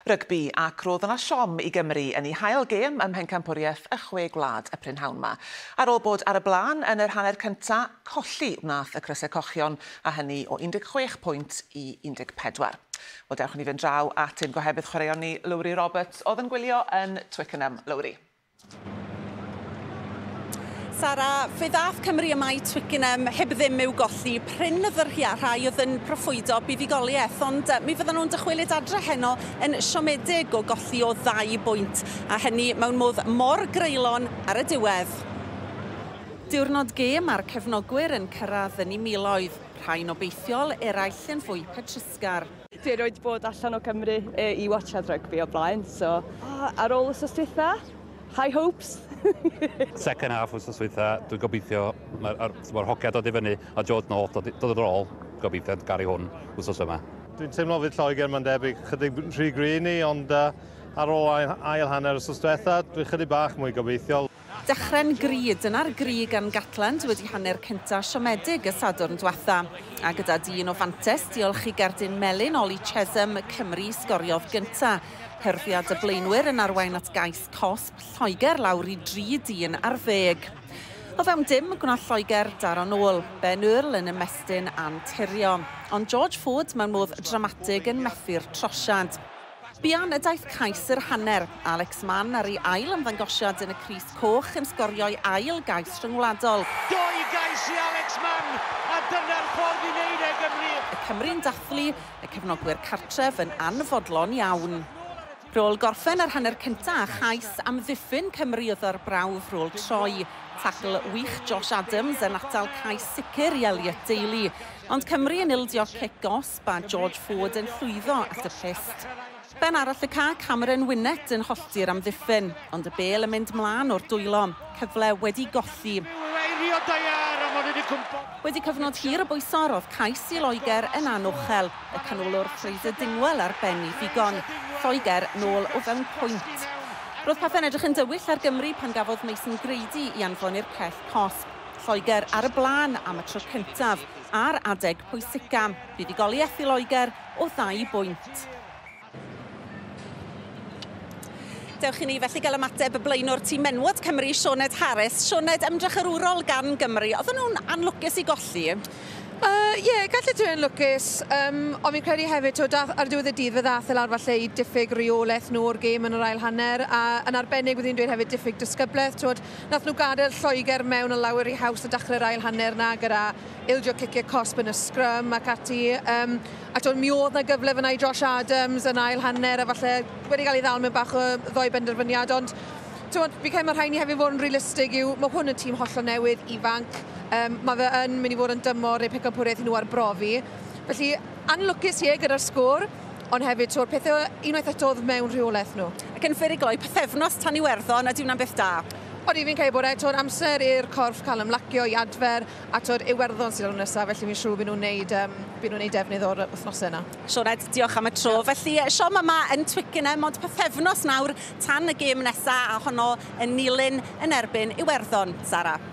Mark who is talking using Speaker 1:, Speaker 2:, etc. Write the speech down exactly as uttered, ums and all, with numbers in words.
Speaker 1: Rygbi, ac roedd yna siom i Gymru yn ei hail gêm ym Mhencampwriaeth y Chwe Gwlad y prynhawn 'ma. Ar ôl bod ar y blaen yn yr hanner cynta, colli wnaeth y Crysau Cochion, a hynny o un deg chwech pwynt i un deg pedwar. Wel, dewch ni fynd draw at ein gohebydd chwaraeon ni, Lowri Roberts, oedd yn gwylio yn Twickenham. Lowri.
Speaker 2: Sara, fe ddath Cymru yma i Twickenham heb ddim i'w golli. Prin y rhai oedd yn proffwydo buddugoliaeth, ond mi fyddan nhw'n dychwelyd adre heno yn siomedig o golli o ddau bwynt, a hynny mewn modd mor greulon ar y diwedd. Diwrnod gêm a'r cefnogwyr yn cyrraedd yn eu miloedd, rhai'n obeithiol, eraill yn fwy petrusgar.
Speaker 3: Dwi erioed bod allan o Cymru e, i watchad rygbi o blaen, so ar ôl wythnos dwytha, high hopes.
Speaker 4: Second half wythnos dwytha, dwi'n gobeithio, mae'r ma hogia dod i fyny a George North dod, dod yn ôl, gobeithio gari hwn wythnos yma.
Speaker 5: Dwi'n teimlo fydd Lloegr, mae'n debyg, chydig rhy gry ni, ond uh, ar ôl ail, ail hanner wythnos diwetha, dwi'n chydig bach mwy gobeithiol.
Speaker 2: Dechrau'n gry, dyna'r gri gan Gatland wedi hanner cynta siomedig y Sadwrn diwetha. A gyda dyn o fantes, diolch i gerdyn melyn Ollie Chesham, Cymru sgoriodd gynta. Hyrddiad y blaenwyr yn arwain at gais cosb, Lloegr lawr i dri dyn ar ddeg. O fewn dim, gwnaeth Lloegr daro nôl, Ben Earl yn ymestyn anturio. Ond George Ford mewn modd dramatig yn methu'r trosiad. Buan y daeth cais yr hanner. Alex Mann ar ei ail ymddangosiad yn y crys coch yn sgorio'i ail gais rhyngwladol.
Speaker 6: Doi gais i Alex Mann, a dyna'r ffordd i wneud e, Gymru.
Speaker 2: Y Cymru'n dathlu, y cefnogwyr cartref yn anfodlon iawn. Rôl gorffen yr hanner cynta a chais amddiffyn Cymru oedd ar brawf rôl troi. Tacl wych Josh Adams yn atal cais sicr i Elliot Daly. Ond Cymru yn ildio cic gosb a George Ford yn llwyddo at y pyst. Ben arall y ca, Cameron Winnett yn hollti'r amddiffyn, ond y bêl yn mynd mlaen o'r dwylo. Cyfle wedi golli. Wedi cyfnod hir o bwyso, roedd cais i Loegr yn anochel. Y canolwr Fraser Dingwell ar ben i ddigon. Lloegr nôl o fewn pwynt. Roedd pethau'n edrych yn dywyll ar Gymru pan gafodd Mason Grady i anfon i'r cell cosb. Lloegr ar y blaen am y tro cyntaf ar adeg pwysica. Buddugoliaeth i Loegr o ddau bwynt. Dewch i ni felly gael ymateb y blaenwr tîm menywod Cymru, Sioned Harris. Sioned, ymdrech arwrol gan Gymru. Oedden nhw'n anlwcus i golli?
Speaker 7: Ie, uh, yeah, gallu dweud yn lwcus, um, ond fi'n credu hefyd, to, dath, ar diwedd y dydd, fe ddath e lawr falle i diffyg reolaeth nhw o'r gêm yn yr ail hanner, a yn arbennig wedi'n dweud hefyd diffyg disgyblaeth. Twod, nath nhw gadael Lloegr mewn o lawer i haws a dechrau'r ail hanner na gyda ildio ciciau cosb yn y scrum ac ati. Um, a twod, mi oedd na gyfle fyna i Josh Adams yn ail hanner, a falle wedi cael ei ddal mewn bach o ddoi benderfyniad, ond twod, fi credu mae rhaid ni hefyd fod yn realistig yw, mae hwn yn tîm hollol newydd, ifanc. Um, mae fe yn mynd i fod yn dymor neu pencampwriaeth i nhw arbrofi. Felly, anlwcus ie gyda'r sgôr, ond hefyd to'r pethau unwaith eto oedd mewn rheolaeth nhw.
Speaker 2: Ac yn fyr i gloi, pythefnos tan Iwerddon, a di hwnna'n beth da?
Speaker 7: Odi, fi'n credu bod e, to'r amser i'r corff cael ymlacio i adfer, a to'r Iwerddon sydd ar nesaf, felly fi'n siŵr byd nhw'n neud, um, byd nhw'n neud defnydd o'r wythnosau yna.
Speaker 2: Sioned, diolch am y tro. Felly, siom yma yn Twickenham, ond pythefnos nawr tan y gêm nesaf, a honno yn Nulyn yn erbyn Iwerddon. Sara.